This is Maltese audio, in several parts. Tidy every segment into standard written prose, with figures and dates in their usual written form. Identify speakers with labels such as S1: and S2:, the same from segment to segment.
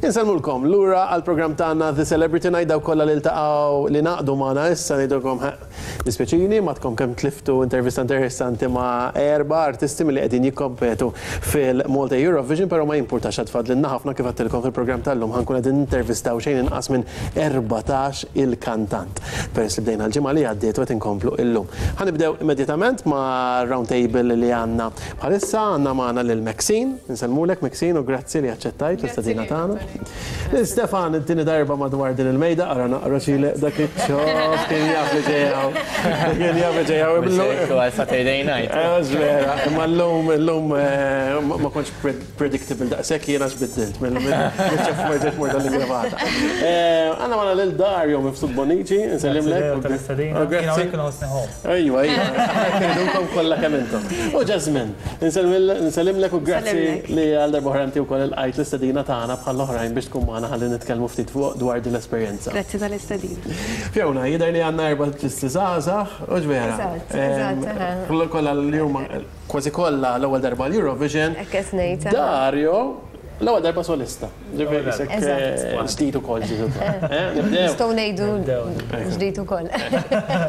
S1: Insellmulkom lura għall-programm tagħna The Celebrity Night dawk kollha li ltaqgħu li ngħaqdu magħna issa ngħidulkom dispjaċini m'għadkom kemm tliftu intervista interessanti ma' erba' artisti milli qegħdin jikkompetu fil-Malta Eurovision però ma jimpurtax għad fadlilna ħafna kif għedtilkom fil-programm tal-lum ħa nkun qegħdin nintervistaw xejn inqas minn 14 il-kantant peress li bdejna l-ġimgħa li għaddiet u qed inkomplu illum. Ħa nibdew immedjatament ma' round table li għandna Bħalissa għandna magħna lil Maxine, insellmulek Maxine u grazzi li aċċettajt l-istedina tagħna. Lil Stefan it-tieni darba madwar din il-mejda, ara naqra xi dak iċ-ċoff kien jaf li ġej hawn. Kien jaf li ġej hawn.
S2: Għal Saturday night.
S1: Vera, imma llum illum ma kontx predictable daqshekk jiena x'biddilt mill-ċoff ma ġejt mort għall-ingravata. Għandna magħna lil Dario Mifsud Bonnici, insellimlek.
S3: Grazzi.
S1: Ejwa, ejwa, aħna rridukom kollha kemm intom. U Jasmine, nsellimlek u grazzi li għal darba oħra inti wkoll ilqajt l-istedina tagħna bħall-oħrajn biex tkun magħna ħalli nitkellmu ftit fuq dwar din l-esperjenza.
S4: Grazzi tal-istedina.
S1: Fiona, jidher li għandna erba' artisti żgħażagħ, hux vera?
S5: Eżatt, eżatt.
S1: Kollha li huma kważi kollha l-ewwel darba l-Eurovision.
S5: Hekk qed ngħid.
S1: Dario, l-ewwel darba solista. Ġifieri isek ġdid ukoll ġdid ukoll. Nibdew.
S5: Nistgħu ngħidu ġdid ukoll.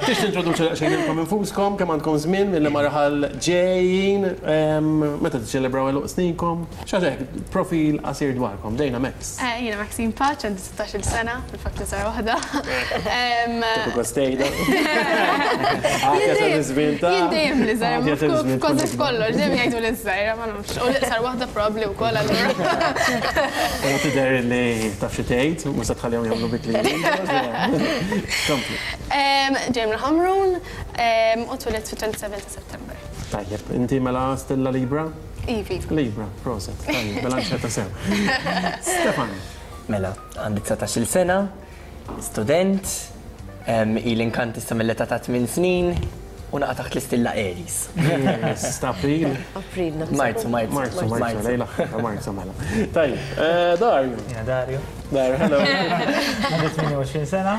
S1: Tix tintroduċu daqsxejn lilkom infuskom, kemm għandkom żmien milli ma raħal ġejjin, meta tiċċelebraw għeluq sninkom, xi ħaġa hekk, profil qasir dwarkom. Bdejna Max.
S4: Jiena Maxine Pace, għandi 16-il sena, fil-fatt l-iżgħar waħda.
S1: Tieħu gost tgħidha.
S4: Jien dejjem l-iżgħar, kważi f'kollox, dejjem jgħidu l-iżgħira, ma nafx. U l-iqsar waħda probabbli wkoll allura.
S1: Però tidher li taf xi tgħid, mhux se tħallihom jagħmlu bik li jridu. Kompli.
S4: Ġej mill-Ħamrun u twilidt fit-27 ta' September.
S1: Tajjeb, inti mela stilla Libra?
S4: Ivi.
S1: Libra, proset. Tajjeb, bilanċjata sew. Stefan.
S2: Mela, għandi 19-il sena, student, ili nkanta issa mill-età ta' 8 snin u naqa' taħt l-istilla Aries.
S1: Aries, ta' April?
S5: April, naħseb.
S2: Marzu, Marzu.
S1: Marzu, Marzu, lejn l-aħħar ta' Marzu mela. Tajjeb, Dario.
S3: Jiena Dario.
S1: Dario, hello.
S3: Għandi 28 sena,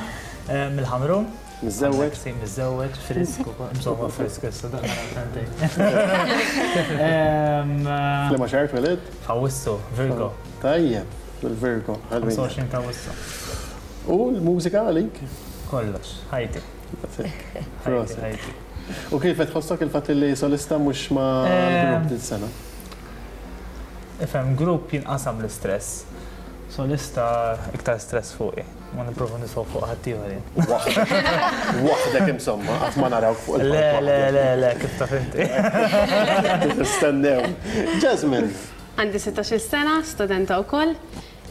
S3: mill-Ħamrun.
S1: Miżżewweġ?
S3: Miżżewweġ, frisk, insomma frisk issa daqqa sentejn.
S1: F'liema xahar twelidt?
S3: F'Awwissu, Virgo.
S1: Tajjeb, il-Virgo.
S3: 25 ta' Awwissu.
S1: U l-mużika għalik?
S3: Kollox, ħajti.
S1: Proset. Ħajti. U kif qed tħossok il-fatt li solista mhux ma' grupp din sena?
S3: Ifhem, grupp jinqasam l-istress. Solista iktar stress fuqi. Ma nipprova niswa fuq ħaddieħor jien.
S1: Waħdek. Waħdek insomma, qatt ma narawk fuq il-palk.
S3: Le, le, le, le, kif taf inti.
S1: Nistennew. Jasmine.
S4: Għandi 16-il sena, studenta wkoll.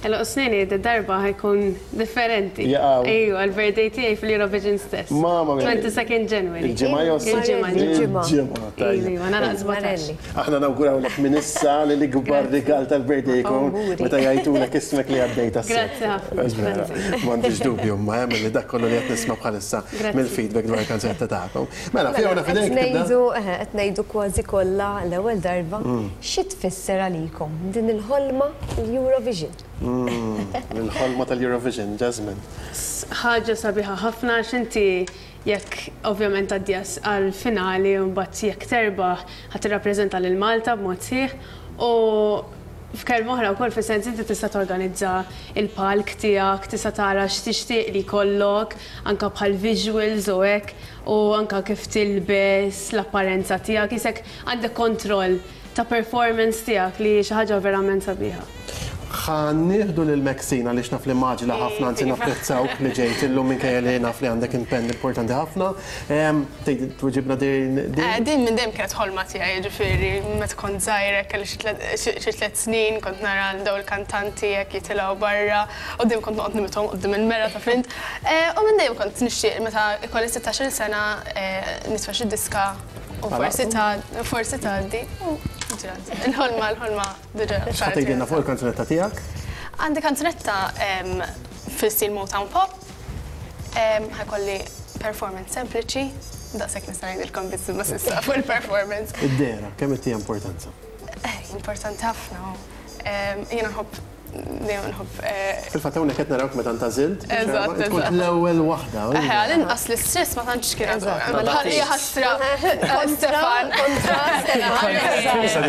S4: Għeluq snini d-darba ħa jkun differenti.
S1: Jaqaw.
S4: Ejwa, l-birthday tiegħi fil-Eurovision stess.
S1: Mamma mia.
S4: 22nd January.
S1: Il-ġimgħa jew
S4: Il-ġimgħa.
S1: Il-ġimgħa. Il-ġimgħa, tajjeb.
S4: Iva, nagħlaq 17.
S1: Aħna nawgurawlek minn issa li l-ikbar rigal tal-birthday jkun meta jgħidulek ismek li għaddejt għas-sena.
S4: Grazzi ħafna.
S1: Grazzi. M'għandix dubju imma hemm li dak kollu li qed nisma' bħalissa mill-feedback dwar il-kanzunetta tagħkom. Mela, Fiona f'idejk tibda.
S5: Qed ngħidu, eħe, qed ngħidu kważi kollha l-ewwel darba. Xi tfisser għalikom din il-ħolma l-Eurovision?
S1: Il-ħolma tal-Eurovision, Jasmine.
S4: Ħaġa sabiħa ħafna għax inti Jekk ovvjament tgħaddi għall-finali u mbagħad jekk terbaħ ħa tirrappreżenta lil Malta b'mod sħiħ u f'kelma oħra wkoll fis-sens inti tista' torganizza l-palk tiegħek, tista' tara x'tixtieq li jkollok anke bħal visuals u hekk u anke kif tilbes, l-apparenza tiegħek, qisek għandek kontroll ta' performance tiegħek li hi xi ħaġa verament sabiħa.
S1: Ħa nieħdu lil Maxine għaliex naf li mgħaġġla ħafna anzi napprezzawk li ġejt illum minkejja li naf li għandek impenn importanti ħafna. Tgħid twiġibna din?
S4: Din minn dejjem kienet ħolma tiegħi, jiġifieri meta kont żgħira kelli xi tliet snin kont nara lil dawn il-kantanti hekk jitilgħu barra u dejjem kont noqgħod nimithom quddiem il-mera taf int. U minn dejjem kont nixtieq meta jkolli sittax-il sena nitfa' xi diska U forsi forsi tgħaddi. U ġrat. Il-ħolma, il-ħolma diġà.
S1: X'ħa tgħidilna fuq il-kanzunetta tiegħek?
S4: Għandi kanzunetta fil-stil Motown Pop. Ħa jkolli performance sempliċi. Daqshekk nista' ngħidilkom biss imma s'issa fuq il-performance.
S1: Id-dehra, kemm ittiha importanza?
S4: Importanti ħafna. Jiena nħobb.
S6: Dejjem nħobb.
S1: Fil-fatt hawnhekk qed narawk meta ntgħażilt.
S6: Eżatt.
S1: Tkun l-ewwel waħda.
S6: Eħe, għall-inqas l-istress ma tantx kien għadu. Hija ħasra. Stefan.
S5: Kontra Stefan.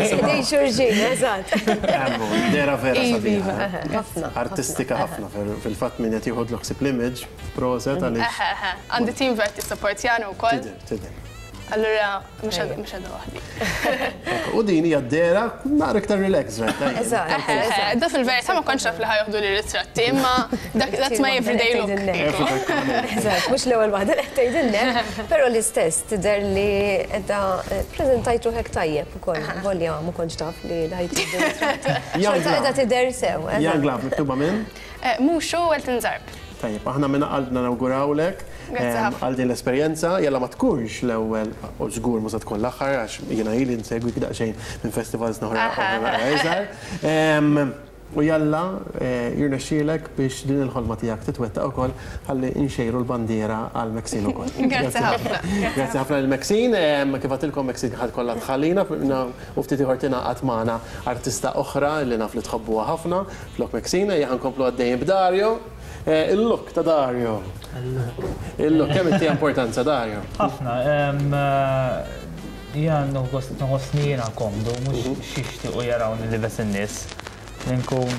S5: Idejn xulxin, eżatt.
S1: Dehra vera sabiħa.
S5: Ħafna.
S1: Artistika ħafna fil-fatt min qed jieħodlu ħsieb l-image, proset għaliex.
S6: Eħe, eħe. Għandi team vera tissapportjani wkoll.
S1: Tidher, tidher.
S6: Allura, mhux għadha waħdi.
S1: U din hija d-dehra naqra iktar relax, right?
S6: Eħe, da fil-verità ma kontx naf li ħa joħdu li ritratti, imma that's my everyday look.
S5: Eżatt, mhux l-ewwel waħda li qed tgħidilna, però l-istess tidher li qiegħda ppreżentajt ruħek tajjeb ukoll, volja ma kontx taf li ħa jittieħdu ritratti. Xorta qiegħda tidher sew.
S1: Young Love miktuba minn?
S6: Muxu Elton Zarb.
S1: Tajjeb, aħna minn qalbna nawgurawlek għal din l-esperjenza, jalla ma tkunx l-ewwel u żgur mhux se tkun l-aħħar għax jiena ili nsegwik daqsxejn minn festivals oħra iżgħar. U jalla jirnexxielek biex din il-ħolma tiegħek titwettaq ukoll ħalli nxejru l-bandiera għal Maxine ukoll.
S6: Grazzi ħafna.
S1: Grazzi ħafna lil Maxine. Kif għedtilkom Maxine ħa tkollha tħallina u ftit ieħor tingħaqad magħna artista oħra li naf li tħobbuha ħafna flok Maxine. Ejja ħa nkomplu għaddejjin b'Dario. Il-look ta' Dario. Il-look, kemm inti importanza Dario?
S3: Ħafna. Jien nħossni jiena komdu, mhux x'jixtiequ jarawni libes in-nies. Li nkun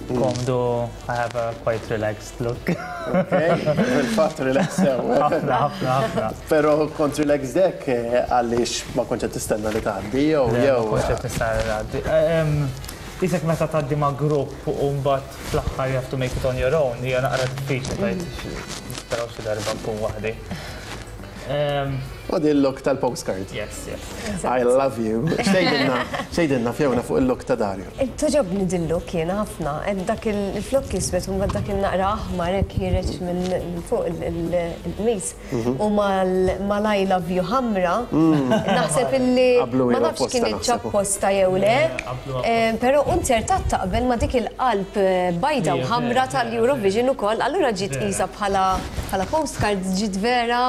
S3: komdu, I have a quite relaxed look.
S1: Fil-fatt relax sew.
S3: Ħafna, ħafna, ħafna.
S1: Però kont relaxed hekk għaliex ma kontx qed tistenna li tgħaddi jew jew.
S3: Ma kontx qed nistenna li tgħaddi. Isek meta tgħaddi ma' grupp u mbagħad fl-aħħar you have to make it on your own, hija naqra diffiċli tgħid nisperaw xi darba nkun waħdi.
S1: U din il-look tal-postcard.
S3: Yes, yes.
S1: I love you. X'tgħidilna, x'tgħidilna Fiona fuq il-look ta' Dario?
S5: Togħġobni din look jiena ħafna. Dak il-flokk iswed u mbagħad dak il-naqra aħmar hekk ħiereġ minn fuq il-qmis. U mal-I love you ħamra, naħseb illi ma nafx kinitx apposta jew le, però unzertat taqbel ma' dik il-qalb bajda u ħamra tal-Eurovision ukoll, allura ġiet qisha bħala postcard ġiet vera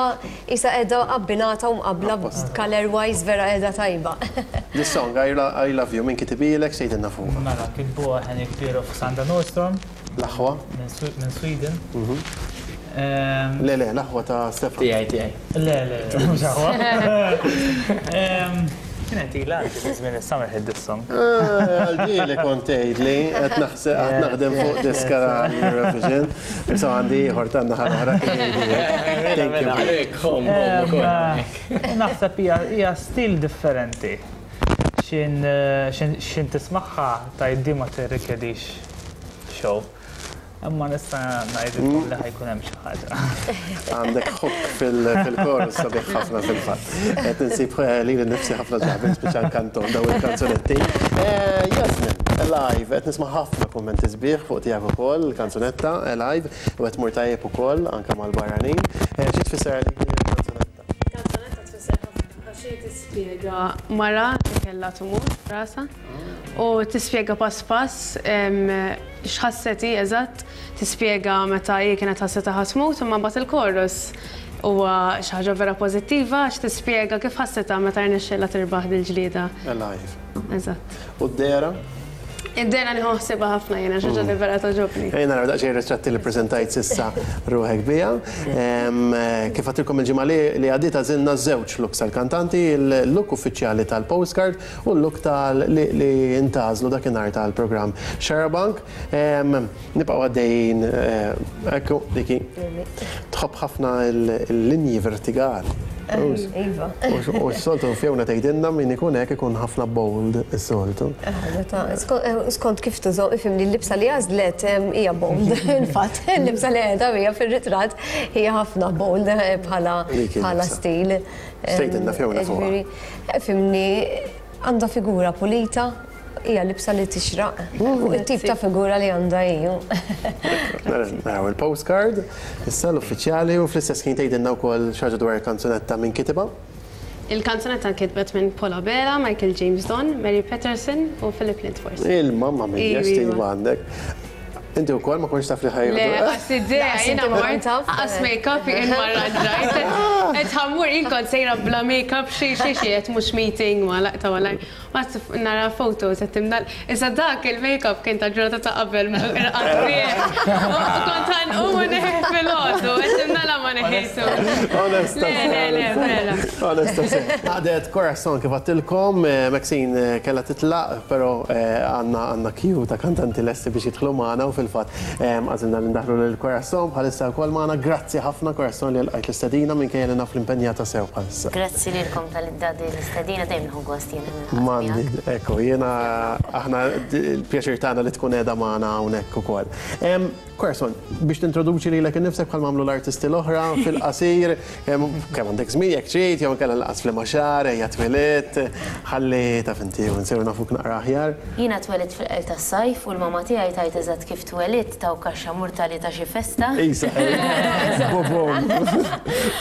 S5: qisha qiegħda abbinata u mqabbla colour wise vera qiegħda tajba.
S1: This song, I love you, min kitibilek, x'tgħidilna fuqha?
S3: Mela, kitbuha Henrik Pierof u Sandra Nordström.
S1: L-aħwa?
S3: Minn Sweden.
S1: Le, le, l-aħwa ta' Stefan.
S2: Tiegħi, tiegħi.
S3: Le, le, mhux aħwa. Kienet ilha għandi fi żmien is-summer hit this song.
S1: Għal-ġieli kont tgħidli, qed naħseb qed naħdem fuq diska Eurovision. Issa għandi ieħor tan-naħa l-oħra kien jgħidli.
S2: Thank you.
S3: Naħseb hija stil differenti. Xin tismagħha tgħid di ma tirrikjedix show. Imma nista' ngħidilkom li ħa jkun hemm xi ħaġa.
S1: Għandek hook fil-chorus sabiħ ħafna fil-fatt. Qed insib lili nnifsi ħafna drabi nispiċċa nkantom dawn il-kanzunetti. Jasmine, Alive, qed nisma' ħafna kummenti sbieħ fuq tiegħek ukoll, il-kanzunetta Alive, u qed tmur tajjeb ukoll anke mal-barranin. Xi tfisser għalik din il-kanzunetta?
S4: Il-kanzunetta tfisser ħafna għax hi tispjega mara li kellha tumur f'rasha u tispjega pass pass x'ħasset hi eżatt, tispjega meta hi kienet ħassetha ħa tmut imma mbagħad il-chorus huwa xi ħaġa vera pożittiva għax tispjega kif ħassetha meta rnexxielha tirbaħ dil-ġlieda.
S1: Alive.
S4: Eżatt.
S1: U d-dehra?
S4: Id-dehra nieħu ħsiebha ħafna jiena, xi ħaġa li vera togħġobni.
S1: Ejja naraw daqsxejn ritratti li ppreżentajt s'issa ruħek biha. Kif għedtilkom il-ġimgħa li għaddiet għażilna żewġ looks għall-kantanti, il-look uffiċjali tal-postcard u l-look tal li ntgħażlu dakinhar tal-programm Xarabank. Nibqgħu għaddejjin, ekku, dik hi. Tħobb ħafna l-linji vertigali.
S5: Iva.
S1: U s-soltu Fiona tgħidilna min ikun hekk ikun ħafna bold is-soltu.
S5: Meta skont kif tużom, ifhimni l-libsa li għażlet hija bold. Infatti, l-libsa li qiegħda hija fir-ritratt hija ħafna bold bħala bħala stil.
S1: X'tgħidilna Fiona fuqha?
S5: Ifhimni għandha figura pulita, hija libsa li tixraq fuq it-tip ta' figura li għandha hi.
S1: Naraw il-postcard, issa l-uffiċjali u fl-istess ħin tgħidilna wkoll xi ħaġa dwar il-kanzunetta min kitibha.
S4: Il-kanzunetta nkitbet minn Paul Abela, Michael James Don, Mary Patterson u Philip Lindfors.
S1: Il-mamma mia, x'tim għandek. Inti wkoll ma kontx taf li ħa jieħdu.
S4: Le, qas idea, jiena mort, qas make-up jien ma rranġajt. Qed ħa mmur, jien kont sejra bla make-up xejn xejn xejn qed mhux meeting ma laqta malajr. Mbagħad nara photos qed imdal. Issa dak il-make-up kien tal-ġurnata ta' qabel irqadt bih. U kont ħa nqum u neħħih filgħodu, qed imdala ma neħħejtux.
S1: Onesta.
S4: Le, le, le, vera.
S1: Onesta sew. Għaqdet Corazon kif għedtilkom, Maxine kellha titlaq, però għandna għandna queue ta' kantanti lesti biex jidħlu magħna u fil-fatt għażilna li ndaħħlu lil Corazon bħalissa wkoll magħna. Grazzi ħafna Corazon li lqajt l-istedina minkejja li naf li impenjata sew bħalissa.
S7: Grazzi lilkom talli tgħaddi l-istedina, dejjem nieħu gost jiena niltaqa' miegħek.
S1: M'għandi, ekku, jiena aħna l-pjaċir tagħna li tkun qiegħda magħna hawnhekk ukoll. Corazon, biex tintroduċi lilek innifsek bħalma għamlu l-artisti l-oħra fil-qasir, kemm għandek żmien jekk trid, jew inkella lanqas f'liema xahar, ejja twilidt, ħalli taf inti u nsiru nafuk naqra aħjar.
S7: Jiena twelidt fil-qel tas-sajf u l-mamma tiegħi tgħid eżatt kif twelidt taw kaxxa murtali ta' xi festa.
S1: Isa, bobom.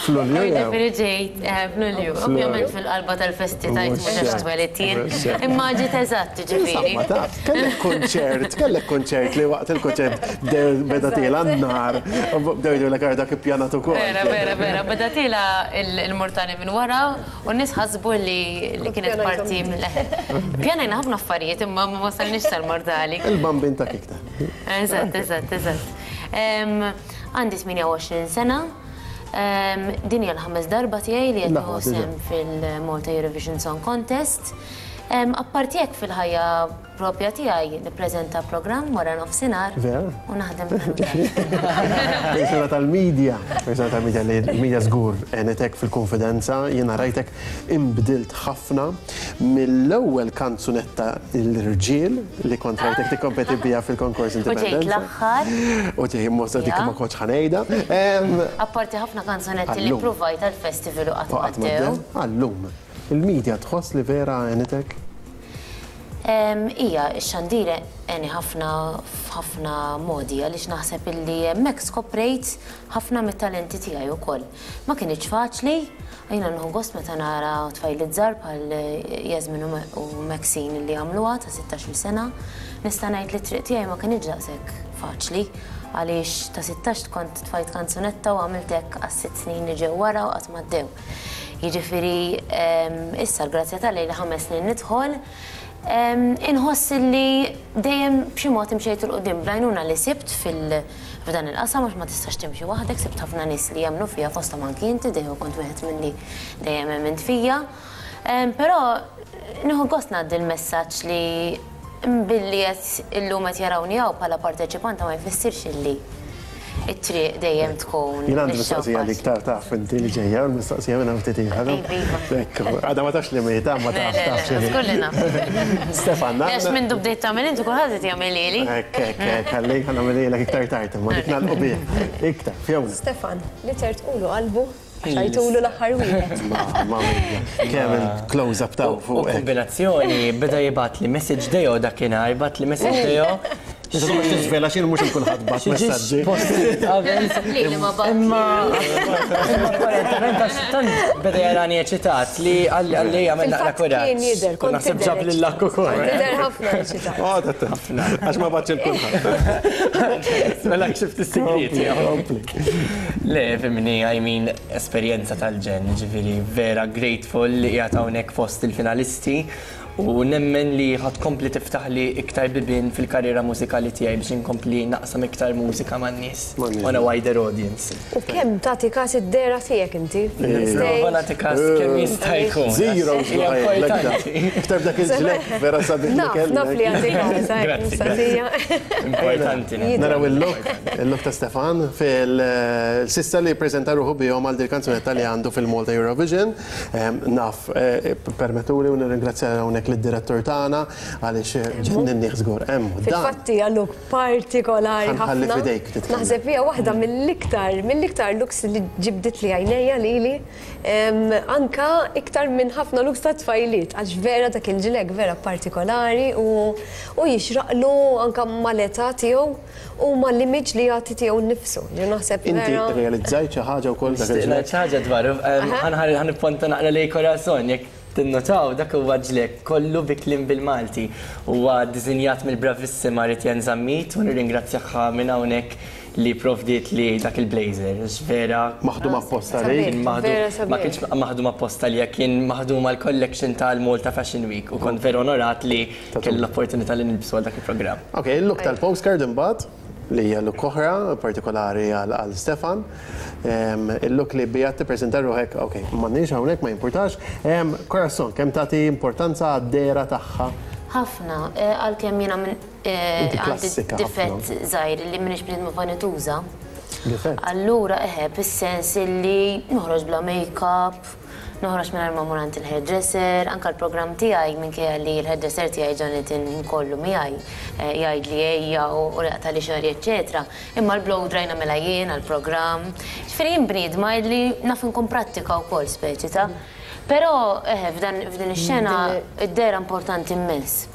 S1: F'Lulju jew?
S7: Jiġifieri ġejt f'Lulju. Ovvjament fil-qalba tal-festi tgħid mhux għax twelidt jien, imma ġiet eżatt jiġifieri.
S1: Insomma taf. Kellek kunċert, kellek kunċert li waqt il-kunċert beda tiela n-nar, u bdew jgħidulek ara dak ippjanat ukoll.
S7: Vera, vera, vera, beda tiela il-murtali minn wara u n-nies ħasbu li kienet parti mill. Pjanajna ħafna affarijiet imma ma wasalniex sal-murtali.
S1: Il-bambin ta' kikta.
S7: Eżatt, eżatt, eżatt. Għandi 28 sena. Din hija l-ħames darba tiegħi li qed nieħu sehem fil-Malta Eurovision Song Contest. Apparti hekk fil-ħajja propja tiegħi nippreżenta programm wara nofsinhar u naħdem fil-mużew.
S1: Persuna tal-media, persuna tal-media li l-media żgur għenetek fil-kunfidenza, jiena rajtek inbdilt ħafna mill-ewwel kanzunetta l-irġiel li kont rajtek tikkompeti biha fil-konkors
S7: Indipendenza. U ġejt l-aħħar.
S1: U ġej mossa dik ma kontx ħa ngħidha.
S7: Apparti ħafna kanzunetti li ppruvajt għall-festival u qatt m'għaddew.
S1: Għal-lum. Il-media tħoss li vera għenitek?
S7: Ija, ix-xandir għeni ħafna f'ħafna modi għaliex naħseb illi hemmhekk skoprejt ħafna mit-talenti tiegħi wkoll. Ma kinitx faċli, jiena nieħu gost meta nara tfajliet żgħar bħal Yasmin u Maxine li għamluha ta' sittax-il sena. Nista' ngħid li t-triq tiegħi ma kinitx daqshekk faċli għaliex ta' sittax kont tfajt kanzunetta u għamilt hekk għas-sitt snin li ġew wara u qatt m'għaddew. Jiġifieri issa l-grazzja t'Alla ili ħames snin nidħol, inħoss illi dejjem b'xi mod imxejt 'il quddiem bl-għajnuna li sibt f'dan il-qasam għax ma tistax timxi waħdek, sibt ħafna nies li jemmnu fija fosthom anki inti dejjem kont wieħed milli dejjem emmint fija. Però nieħu gost ngħaddi l-messaġġ li Billi qed illum qed jarawni hawn bħala parteċipanta ma jfissirx illi t-triq dejjem tkun
S1: Jien għandi mistoqsija għalik taf taf inti li ġejja, l-mistoqsija minn hawn ftit ieħor.
S7: Iva, iva.
S1: Ekku, għadha ma tafx li mhi ta ma taf taf x'inhi.
S7: Żgur li naf.
S1: Stefan,
S7: Għax mindu bdejt tagħmel inti kulħadd qed jagħmilhieli.
S1: Hekk, hekk, hekk, ħalli ħa nagħmilhielek iktar tard imma dik nagħlqu bih. Iktar, Fiona.
S5: Stefan, li tertqulu qalbu Xajtulu l-aħħar wieħed.
S1: Mamma mia, kemm il-close up taw fuq.
S2: U kombinazzjoni beda jibgħatli message Deo dakinhar, jibgħatli message Deo.
S1: Issa mhux tiżvela x'inhu mhux il kulħadd bagħat messaġġi.
S7: Lili ma bagħat.
S2: Imma apparentement għax tant beda jarani eċitat li għalli jagħmel naqra kuraġġ.
S5: Kien jidher, kont
S2: naħseb ġab lil akk ukoll.
S5: Tidher ħafna eċitat.
S1: Ħafna. Għax ma bagħatx il kulħadd.
S2: Mela ksibt is-sigriet. Le, fimni, I mean, esperjenza tal-ġenn, ġifieri vera grateful li qiegħed hawnhekk fost il-finalisti u nemmen li ħa tkompli tiftaħli iktar bibien fil-karriera mużikali tiegħi biex inkompli naqsam iktar mużika man-nies on a wider audience.
S5: U kemm tagħti kas id-dehra tiegħek inti?
S2: Nipprova nagħti kas kemm jista' jkun.
S1: Zero
S2: Hija importanti.
S1: Iktar b'dak il-ġlekk vera sabiħ li
S5: Naf,
S1: kellek.
S5: naf li għandi kas,
S2: Grazzi,
S5: mistoqsija.
S2: Importanti.
S1: Naraw il-look, il-look ta' Stefan fil-sissa li ppreżenta ruħu bihom għal dil-kanzunetta li għandu fil-Malta Eurovision. Naf, permettuli u nirringrazzja hawnhekk lid-direttur tagħna għaliex ġenninnih żgur. Hemm hu dan.
S5: Fil-fatt hija look partikolari ħafna.
S1: Ħa nħalli f'idejk titkellem.
S5: Naħseb hija waħda mill-iktar, mill-iktar looks li ġibditli għajnejja lili, anka iktar minn ħafna looks ta' tfajliet għax vera dak il-ġlekk vera partikolari u u jixraqlu anka mal-età tiegħu u mal-image li jagħti tiegħu nnifsu. Ġifieri naħseb
S1: Inti
S5: vera.
S1: rrealizzajt xi ħaġa wkoll dak
S2: Nixtieq
S1: il-ġlekk?
S2: ngħid xi ħaġa dwaru. Ħa nipponta naqra lejn Corazon jekk. Tinnotaw dak huwa ġlekk kollu bi kliem bil-Malti. Huwa ddisinjat mill-bravissima Ritienne Zammit u nirringrazzjaha minn hawnhekk li provdietli dak il-blazer għax vera
S1: Maħdum apposta għalik?
S2: Kien maħdum, ma kienx maħdum apposta għalija, kien maħdum għall-collection tal-Malta Fashion Week u kont vera onorat li kelli l-opportunità li nilbsu għal dak il-programm.
S1: Ok, il-look tal-postcard imbagħad, li hija look oħra partikolari għal Stefan. Il-look li biha tippreżenta ruħek, ok, m'għandniex hawnhekk ma jimpurtax. Corazon, kemm tagħti importanza għad-dehra tagħha?
S7: Ħafna, għalkemm jiena għandi difett żgħir li m'iniex bniedma vanituża.
S1: Difett?
S7: Allura eħe, fis-sens illi noħroġ bla make-up, noħroġ mingħajr ma mmur għand il-hairdresser, anke l-programm tiegħi minkejja li l-hairdresser tiegħi Jonathan kollu miegħi jgħidli ejja u jaqtagħli xagħri eċċetera, imma l-blow dry nagħmilha jien għall-programm. Ġifieri jien bniedma illi naf inkun prattika wkoll speċi ta'. Però eħe f'dan f'din ix-xena d-dehra importanti immens.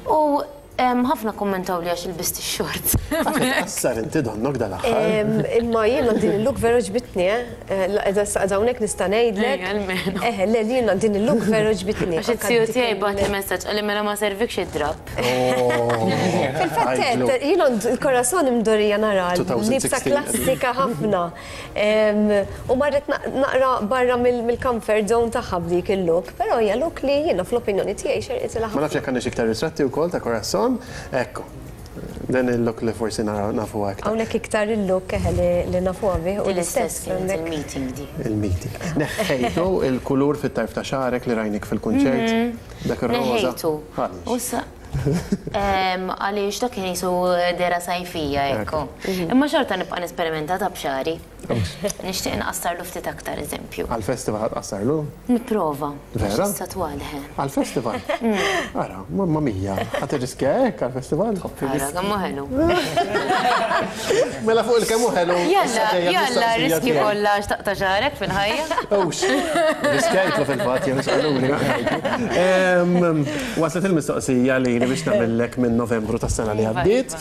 S7: U Ħafna kkummentawli għax ilbist ix-shorts.
S1: Għax qed tqassar inti donnok dal-aħħar.
S5: Imma jiena din il-look vera ġbitni, eh. Issa qiegħda hawnhekk nista' ngħidlek.
S7: Ejja, almenu.
S5: Eħe, le jiena din il-look vera ġbitni.
S7: Għax iz-ziju tiegħi bagħatli messaġġ qalli mela ma servikx id-drapp.
S5: Fil-fatt, jiena l-Corazon imdorrija nara libsa klassika ħafna. U marret naqra barra mill-comfort zone tagħha b'dik il-look, però hija look li jiena fl-opinjoni tiegħi xerqitilha ħafna.
S1: Ma nafx jekk għandniex iktar ritratti wkoll ta' Corazon. Ekku. Dan il-look li forsi nafuha iktar.
S5: Hawnhekk iktar il-look eħe li nafuha bih u
S7: Din l-istess kienet il-meeting di.
S1: Il-meeting. Neħħejtu il-kulur fit-tarf ta' xagħrek li rajnik fil-kunċert? Dak ir-roża.
S7: Neħħejtu.
S1: Għaliex?
S7: Għaliex dak kien qisu dehra sajfija ekku. Imma xorta nibqa' nesperimenta ta' b'xagħri. Nixtieq inqassarlu ftit aktar eżempju.
S1: Għall-festival ħa tqassarlu?
S7: Nipprova.
S1: Vera?
S7: Għax issa twal, eħe.
S1: Għall-festival? Ara, mamma mia, ħa tirriskja hekk għall-festival?
S7: Ara, kemm hu ħelu.
S1: Mela fuq il-kemm hu ħelu.
S7: Jalla, jalla, riskji kollha għax taqta' xagħrek fil-ħajja.
S1: Hux, riskjajtlu fil-fatt, jien qaluli. Waslet il-mistoqsija lili biex nagħmillek minn Novembru tas-sena li għaddiet.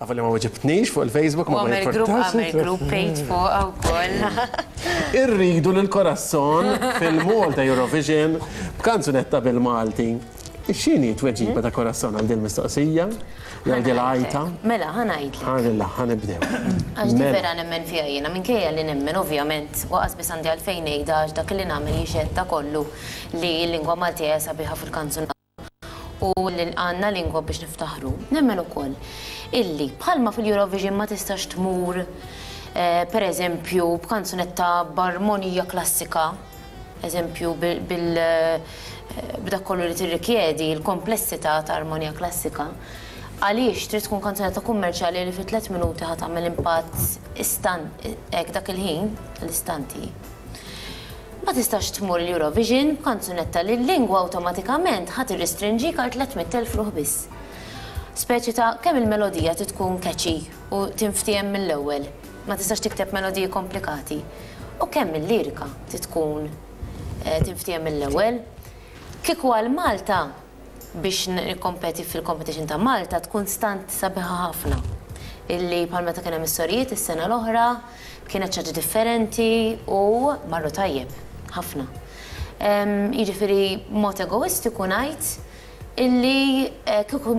S1: Avolja ma weġibtnix fuq il-Facebook ma
S7: jimpurtax. Għamel group page fuqha wkoll.
S1: Irridu lil Corazon fil-Malta Eurovision b'kanzunetta bil-Malti. X'inhi t-tweġiba ta' Corazon għal din mistoqsija? Jew għal din l-għajta?
S7: Mela, ħa ngħidlek.
S1: Ħa ħa nibdew.
S7: Għax di vera nemmen fiha jiena, minkejja li nemmen ovvjament, u qas biss għandi għalfejn ngħidha għax dak li nagħmel jixhed ta' kollu li l-lingwa Maltija hija sabiħa fil-kanzunata u li għandna lingwa biex niftaħru. Nemmen ukoll illi bħalma fil-Eurovision ma tistax tmur per eżempju b'kanzunetta b'armonija klassika, eżempju bil b'dak kollu li tirrikjedi l-komplessità ta' armonija klassika, għaliex trid tkun kanzunetta kummerċjali li fi tlett minuti ħa tagħmel impatt istan hekk dak il-ħin, l-istanti. Ma tistax tmur l-Eurovision b'kanzunetta li l-lingwa awtomatikament ħa tirrestrinġik għal 300,000 ruħ biss. Speċi ta' kemm il-melodija trid tkun catchy u tinftiehem mill-ewwel, ma tistax tikteb melodiji komplikati, u kemm il-lirika trid tkun tinftiehem mill-ewwel. Kieku għal Malta, biex nikkompeti fil-competition ta' Malta tkun stunt sabiħa ħafna. Illi bħal meta kien hemm is-sorijiet is-sena l-oħra, kienet xi ħaġa differenti u marru tajjeb ħafna. Jiġifieri b'mod egoistiku ngħid illi kieku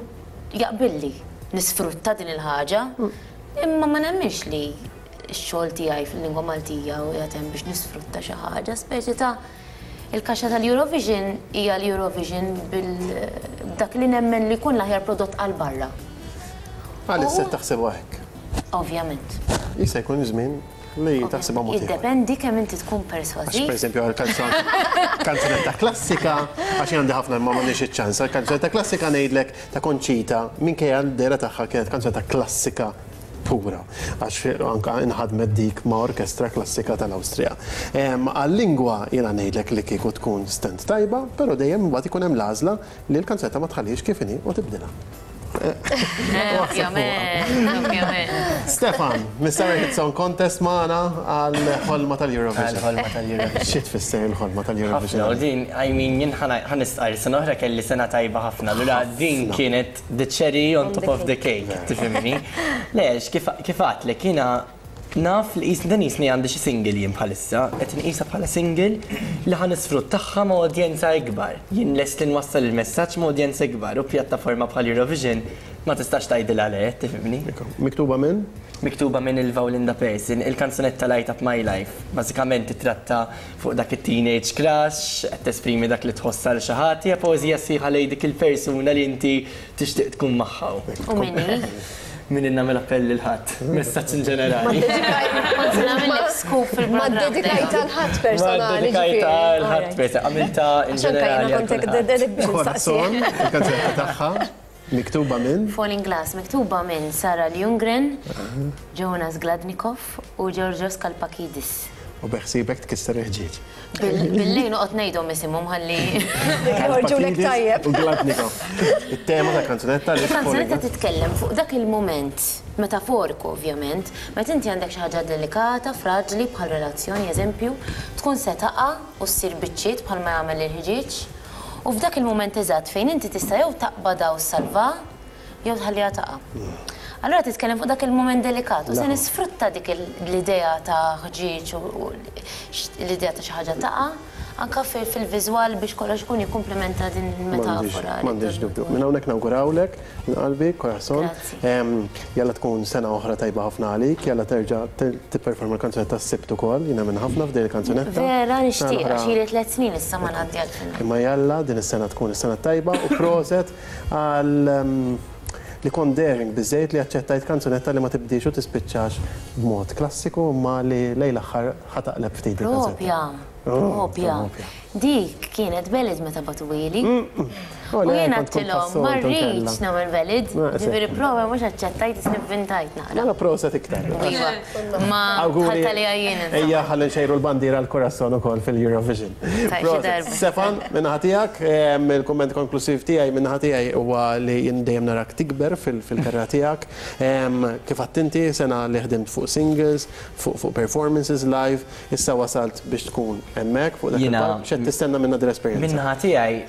S7: jaqbilli nisfrutta din il-ħaġa, imma ma nemminx li x-xogħol tiegħi fil-lingwa Maltija qiegħed hemm biex nisfrutta xi ħaġa, speċi ta' Il-kaxxa tal-Eurovision hija l-Eurovision b'dak li nemmen li jkun l-aħjar prodott għal barra.
S1: Għalissa qed taħsibha hekk?
S7: Ovvjament.
S1: Jista' jkun żmien li taħsibha mod ieħor.
S7: Jiddependi kemm inti tkun persważiv.
S1: Għax pereżempju għal kanzunetta klassika, għax jien għandi ħafna imma m'għandix iċ-ċans, għal kanzunetta klassika ngħidlek ta' Conchita, minkejja l-dehra tagħha kienet kanzunetta klassika pura, għax anke inħadmet dik ma' orkestra klassika tal-Awstrija. Għal-lingwa jiena ngħidlek li kieku tkun stand tajba, però dejjem imbagħad ikun hemm l-għażla li l-kanzunetta ma tħallihiex kif inhi u tibdilha.
S7: Ovvjament, ovvjament.
S1: Stefan, Mr. Hit Song Contest magħna għall-ħolma tal-Eurovision.
S2: Għall-ħolma tal-Eurovision.
S1: Xi tfisser il-ħolma tal-Eurovision?
S2: Ħafna, u din, I mean, jien ħa nistqarr, sena oħra kelli sena tajba ħafna, allura din kienet The cherry on top of the cake, tifhimni? Le, għax kif għedtlek jiena Naf li qisni dan qisni għandi xi single jien bħalissa, qed inqisha bħala single li ħa nisfruttagħha ma' udjenza ikbar. Jien lest li nwassal il-messaġġ ma' udjenza ikbar u pjattaforma bħal Eurovision ma tistax tgħidilha le, tifhimni?
S1: Miktuba minn?
S2: Miktuba minn Ilva u Linda Persson, il-kanzunetta Light Up My Life. Bażikament titratta fuq dak it-teenage crush, qed tesprimi dak li tħoss għal xi ħadd, hija poeżija sħiħa lejn dik il-persuna li inti tixtieq tkun magħha.
S7: U min hi?
S2: Min nagħmel appell lil ħadd, messaġġ in ġenerali.
S7: Kont se nagħmillek scoop
S5: Ma
S7: fil-programm.
S5: ddedikajtha 'l ħadd personali.
S2: Ma ddedikajtha 'l ħadd personali, għamiltha in ġenerali.
S5: Għax anke jiena kont hekk biex nistaqsi.
S1: Corazon, il-kanzunetta tagħha, miktuba minn?
S7: Falling Glass, miktuba minn Sara Ljunggren, Jonas Gladnikov u Georgios Kalpakidis.
S1: U beħsiebek tkisser il-ħġieġ.
S7: Bil-lejl noqgħod ngħidhom isimhom ħalli.
S5: Joħorġulek tajjeb.
S1: U Gladnikov. It-tema tal-kanzunetta li
S7: Il-kanzunetta titkellem fuq dak il-mument, metaforiku ovvjament, meta inti għandek xi ħaġa delikata, fraġli bħal relazzjoni eżempju, tkun se taqa' u ssir biċċiet bħalma jagħmel il-ħġieġ. U f'dak il-mument eżatt fejn inti tista' jew taqbadha u ssalvaha, jew tħalliha taqa'. Allura titkellem fuq dak il-mument delikat u se nisfrutta dik l-idea ta' ħġieġ u l-idea ta' xi ħaġa taqa' anka fil-viżwal biex kollox ikun jikkumplementa din il-metafora.
S1: M'għandix dubju. Minn hawnhekk nawgurawlek minn qalbi, Corazon. Jalla tkun sena oħra tajba ħafna għalik, jalla terġa' tipperforma l-kanzunetta s-Sibt ukoll, jiena minn ħafna f'din il-kanzunetta.
S7: Vera nixtieq għax ili tliet snin issa ma ngħaddi għall-finali.
S1: Imma jalla din is-sena tkun is-sena t-tajba u proset għal li kont daring biżżejjed li aċċettajt kanzunetta li ma tibdiex u tispiċċax b'mod klassiku imma li lejn l-aħħar ħa taqleb ftit il-kanzunetta.
S7: Propja, propja. Dik kienet ballad meta bagħtuhieli. U jien għedtilhom ma rridx nagħmel ballad, ġifieri prova mhux aċċettajt isni vvintajt naqra.
S1: Mela proset iktar.
S7: Iva, ma dħalt għaliha jien insomma.
S1: Ejja ħalli nxejru l-bandiera għall-Corazon ukoll fil-Eurovision.
S7: Proset.
S1: Stefan, min-naħa tiegħek, il-kumment konklusiv tiegħi min-naħa tiegħi huwa li jien dejjem narak tikber fil-karriera tiegħek. Kif għedt inti, sena li ħdimt fuq singles, fuq performances live, issa wasalt biex tkun hemmhekk fuq dak il-palk. X'qed tistenna minnha din l-esperjenza?
S2: Min-naħa tiegħi,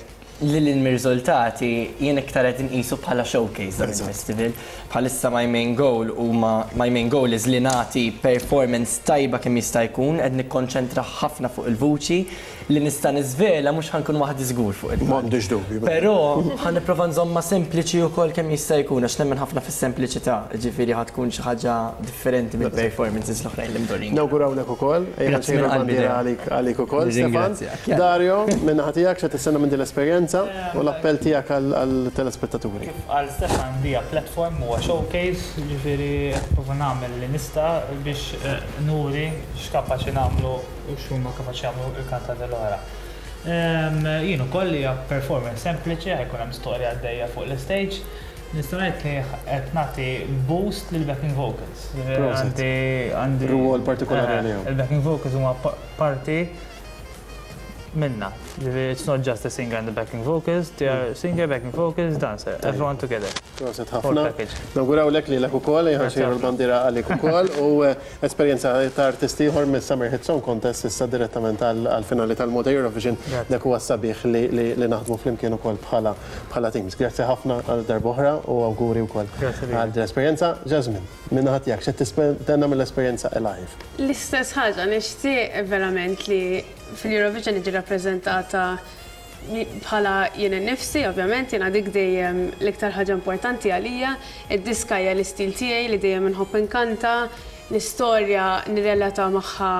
S2: lil hinn mir-riżultati, jien iktar qed inqisu bħala showcase dan il-festival. Bħalissa my main goal huma my main goal is li nagħti performance tajba kemm jista' jkun, qed nikkonċentra ħafna fuq il-vuċi, li nista' niżvela mhux ħa nkun waħdi żgur fuq il-palk.
S1: M'għandix dubju.
S2: Però ħa nipprova nżommha sempliċi wkoll kemm jista' jkun għax nemmen ħafna fis-sempliċità, jiġifieri ħa tkun xi ħaġa differenti mill-performances l-oħrajn li mdorrijin.
S1: Nawgurawlek ukoll, ejja nxejru l-bandiera għalik ukoll, Stefan. Dario, min-naħa tiegħek x'qed tistenna minn din l-esperjenza u l-appell tiegħek għall-telespettaturi?
S3: Kif qal Stefan, hija platform, huwa showcase, jiġifieri qed nipprova nagħmel li nista' biex nuri x'kapaċi nagħmlu u x'huma kapaċi jagħmlu l-kantanti l-oħra. Jien ukoll hija performance sempliċi, ħa jkun hemm storja għaddejja fuq l-istage. Nista' ngħid li qed nagħti boost lill-backing vocals. Għandi għandi
S1: Rwol partikolari għalihom.
S3: Il-backing vocals huma parti minna. Ġifieri it's not just the singer and the backing vocals, they are singer, backing vocals, dancer, everyone together.
S1: Proset ħafna. Nawgurawlek lilek ukoll, ejja nxejru l-bandiera għalik ukoll u esperjenza ta' artist ieħor mis-Summer Hit Song Contest issa direttament għall-finali tal-Malta Eurovision. Dak huwa s-sabiħ li naħdmu flimkien ukoll bħala teams. Grazzi ħafna għal darb'oħra u awguri wkoll għal din l-esperjenza. Jasmine, min-naħa tiegħek x'qed tistenna mill-esperjenza Alive?
S4: L-istess ħaġa, nixtieq verament li fil-Eurovision niġi rappreżentata bħala jien innifsi, ovvjament, jiena dik dejjem l-iktar ħaġa importanti għalija. Id-diska hija l-istil tiegħi li dejjem inħobb inkanta, l-istorja nirrelata magħha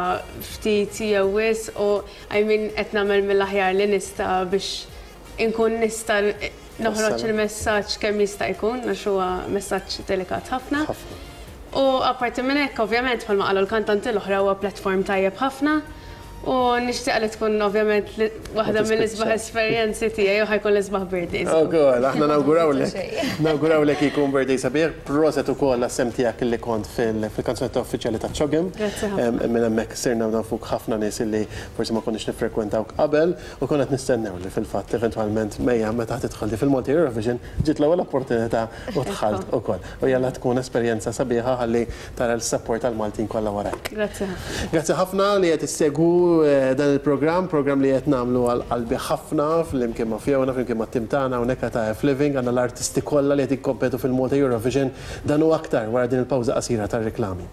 S4: ftit jew wisq u I mean qed nagħmel mill-aħjar li nista' biex inkun nista' noħroġ il-messaġġ kemm jista' jkun għax huwa messaġġ delikat ħafna. U apparti minn hekk, ovvjament, bħalma qalu l-kantanti l-oħra huwa platform tajjeb ħafna u nixtieq li tkun ovvjament waħda mill-isbaħ esperjenzi tiegħi u ħa jkun l-isbaħ birthday.
S1: Ukoll, aħna nawgurawlek. Nawgurawlek jkun birthday sabiħ. Proset ukoll għas-sehem tiegħek li kont fil-kanzunetta uffiċjali ta' CHOGM.
S4: Grazzi ħafna.
S1: Minn hemmhekk sirna nafuk ħafna nies li forsi ma konniex niffrekwentawk qabel u konna qed nistennew li fil-fatt eventwalment Mejja meta tidħol di fil-Malta Eurovision ġiet l-ewwel opportunità u dħalt ukoll. U jalla tkun esperjenza sabiħa ħalli tara l-support tal-Maltin kollha warajk.
S4: Grazzi ħafna.
S1: Grazzi ħafna li qed issegwu dan il-programm, programm li qed nagħmlu għal qalbi ħafna flimkien ma' Fiona, flimkien mat-tim tagħna hawnhekk ta' F Living, għandna l-artisti kollha li qed jikkompetu fil-Malta Eurovision. Dan u aktar wara din il-pawża qasira tar-riklami.